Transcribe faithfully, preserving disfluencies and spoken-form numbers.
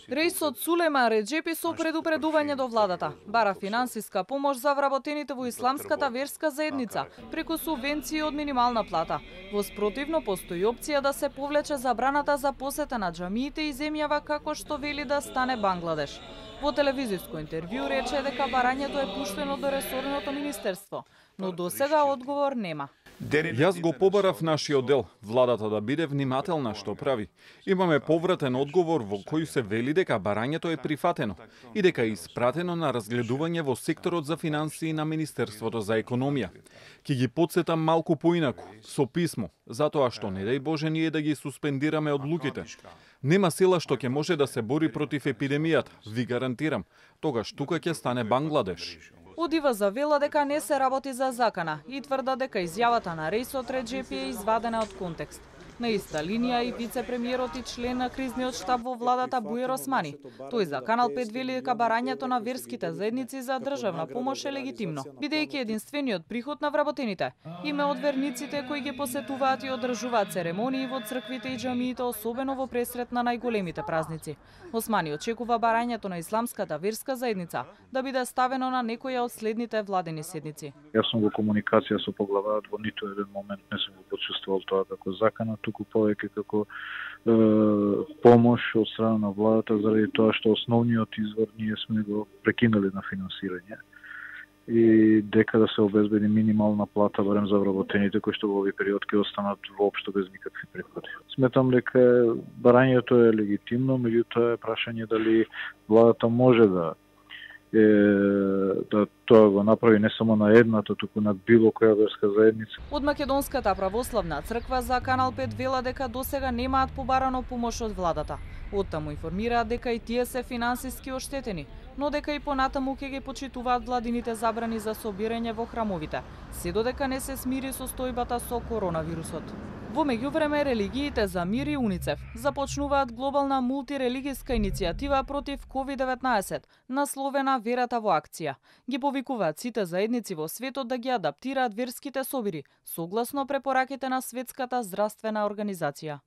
Реисот Сулейман Реджепи со предупредување до владата бара финансиска помош за вработените во исламската верска заедница преку субвенции од минимална плата. Во спротивно постои опција да се повлече забраната за посета на џамиите и земјава како што вели да стане Бангладеш. Во телевизиско интервју рече дека барањето е пуштено до ресорното министерство, но досега одговор нема. Јас го побарав нашиот дел, владата да биде внимателна што прави. Имаме повратен одговор во кој се вели дека барањето е прифатено и дека е испратено на разгледување во секторот за финансии на Министерството за економија. Ки ги подсетам малку поинаку, со писмо, затоа што не дај Боже ние да ги суспендираме одлуките. Нема сила што ќе може да се бори против епидемијата, ви гарантирам. Тогаш тука ќе стане Бангладеш. Одива завела дека не се работи за закана и тврда дека изјавата на Реисот Реджепи е извадена од контекст. На иста линија и вице-премиерот и член на кризниот штаб во владата Бујер Османи. Тој за Канал пет вели дека барањето на верските заедници за државна помош е легитимно, бидејќи единствениот приход на вработените им е од верниците кои ги посетуваат и одржуваат церемонии во црквите и џамиите, особено во пресрет на најголемите празници. Османи очекува барањето на исламската верска заедница да биде ставено на некоја од следните владени седници. Јас сум во комуникација со поглаварот, во ниту еден момент не сум го почувствувал тоа како закана, туку повеќе како е, помош од страна на владата, заради тоа што основниот извор ние сме го прекинали на финансирање и дека да се обезбеди минимална плата барем за вработените кои што во овој период ќе останат воопшто без никакви приходи. Сметам дека барањето е легитимно, меѓутоа е прашање дали владата може да е, да тоа го направи не само на едната, туку на било која верска заедница. Од Македонската православна црква за Канал пет вела дека досега немаат побарано помош од владата. Оттаму информираат дека и тие се финансиски оштетени, но дека и понатаму ќе ги почитуваат владините забрани за собирање во храмовите, се додека не се смири состојбата со коронавирусот. Во меѓувреме, религиите за мир и УНИЦЕФ започнуваат глобална мултирелигиска иницијатива против ковид деветнаесет, насловена Верата во акција. Ги повикуваат сите заедници во светот да ги адаптираат верските собири, согласно препораките на Светската здравствена организација.